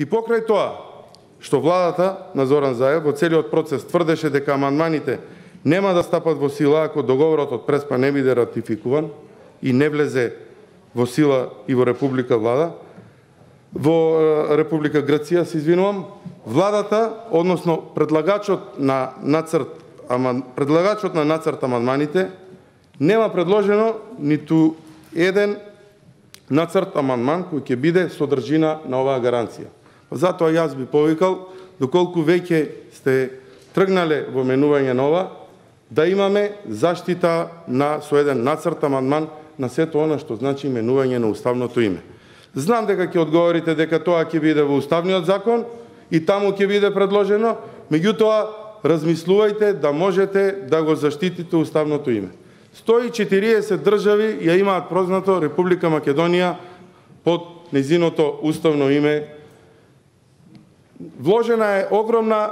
И покрај тоа, што владата на Зоран Заев во целиот процес тврдеше дека амандманите нема да стапат во сила ако договорот од Преспа не биде ратификуван и не влезе во сила и во Република Грција, се извинувам, владата, односно предлагачот на нацрт амандманите нема предложено ниту еден нацрт амандман кој ќе биде содржина на оваа гаранција. Затоа јас би повикал, доколку веќе сте тргнале во менување на ова, да имаме заштита со еден нацрт амандман на сето она што значи менување на уставното име. Знам дека ќе одговорите дека тоа ќе биде во уставниот закон и таму ќе биде предложено, меѓутоа размислувајте да можете да го заштитите уставното име. 140 држави ја имаат прознато Република Македонија под нејзиното уставно име. Вложена е огромни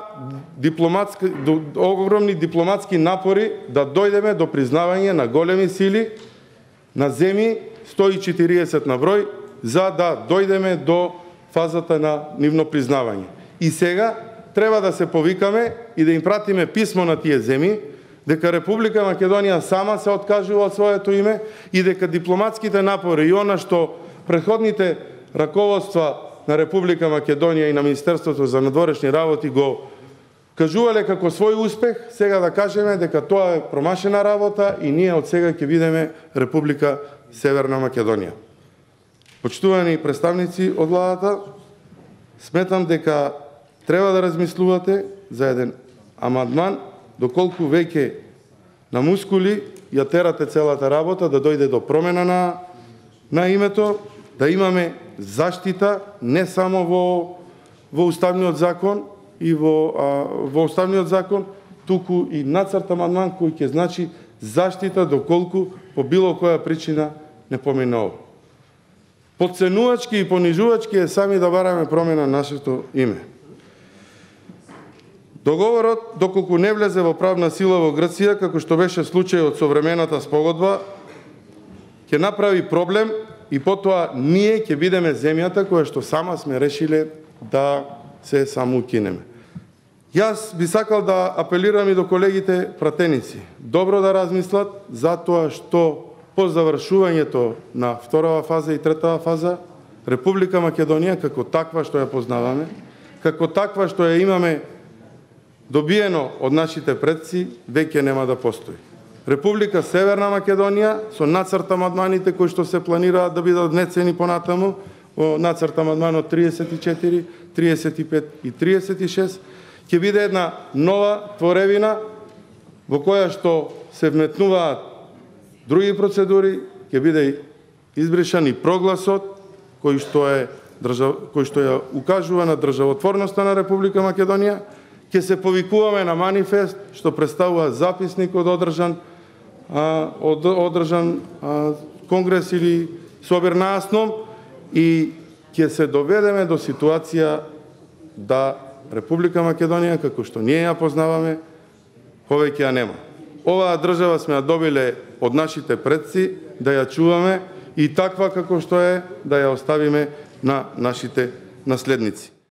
дипломатски напори да дојдеме до признавање на големи сили на земји, 140 на број, за да дојдеме до фазата на нивно признавање. И сега треба да се повикаме и да им пратиме писмо на тие земји, дека Република Македонија сама се откажува од своето име и дека дипломатските напори и она што претходните раководства на Република Македонија и на Министерството за надворешни работи го кажувале како свој успех, сега да кажеме дека тоа е промашена работа и ние од сега ќе бидеме Република Северна Македонија. Почитувани представници од владата, сметам дека треба да размислувате за еден амандман, доколку веќе на мускули ја терате целата работа да дојде до промена на името, да имаме заштита не само во уставниот закон и во уставниот закон, туку и нацрт амандман кој ќе значи заштита доколку по било која причина не помине ова. Потценувачки и понижувачки е сами да бараме промена на нашето име. Договорот, доколку не влезе во правна сила во Грција, како што беше случајот со времената спогодба, ќе направи проблем и потоа ние ќе бидеме земјата која што сама сме решиле да се самоукинеме. Јас би сакал да апелирам и до колегите пратеници. Добро да размислат за тоа што по завршувањето на вторава фаза и третава фаза, Република Македонија како таква што ја познаваме, како таква што ја имаме добиено од нашите предци, веќе нема да постои. Република Северна Македонија со нацрт амандманите кои што се планираат да бидат внесени понатаму, во нацрт амандманот 34, 35 и 36, ќе биде една нова творевина во која што се вметнуваат други процедури, ќе биде избришан и прогласот кој што ја укажува на државотворноста на Република Македонија, ќе се повикуваме на манифест што представува записник од одржан конгрес или собир наасном и ќе се доведеме до ситуација да Република Македонија, како што ние ја познаваме, повеќе ја нема. Оваа држава сме ја добиле од нашите предци да ја чуваме и таква како што е да ја оставиме на нашите наследници.